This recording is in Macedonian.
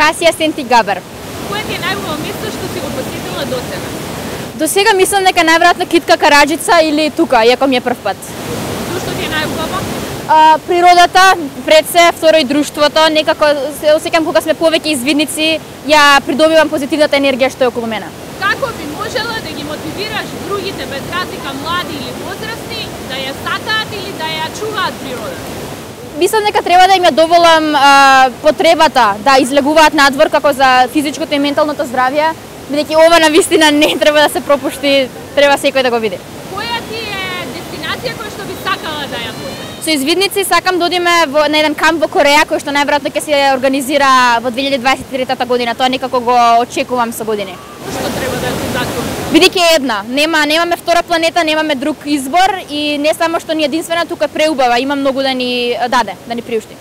Касија Сенти Габер. Кое ти е најубаво место што си го посетила досега? До сега мислам дека најверојатно Китка Караџица или тука, иако ми е прв пат. Што ти е најубаво? Природата, пред се, второ и друштвото, некако се осеќам кога сме повеќе извидници, ја придобивам позитивната енергија што е околу мене. Како би можела да ги мотивираш другите, без разлика млади или возрастни, да ја сакаат или да ја чуваат природата? Мислам дека треба да им ја доволам потребата да излегуваат надвор како за физичкото и менталното здравје, бидејќи ова навистина не треба да се пропушти, треба секој да го види. Која ти е дестинација која што би сакала да ја посетиш? Со извидници сакам да одиме на еден камп во Кореја кој што најверојатно ќе се организира во 2023 година. Тоа некако го очекувам со години. Што треба да се закон? Бидејќи една, немаме втора планета, немаме друг избор и не само што ни е единствена, тука е преубава, има многу да ни даде, да ни приушти.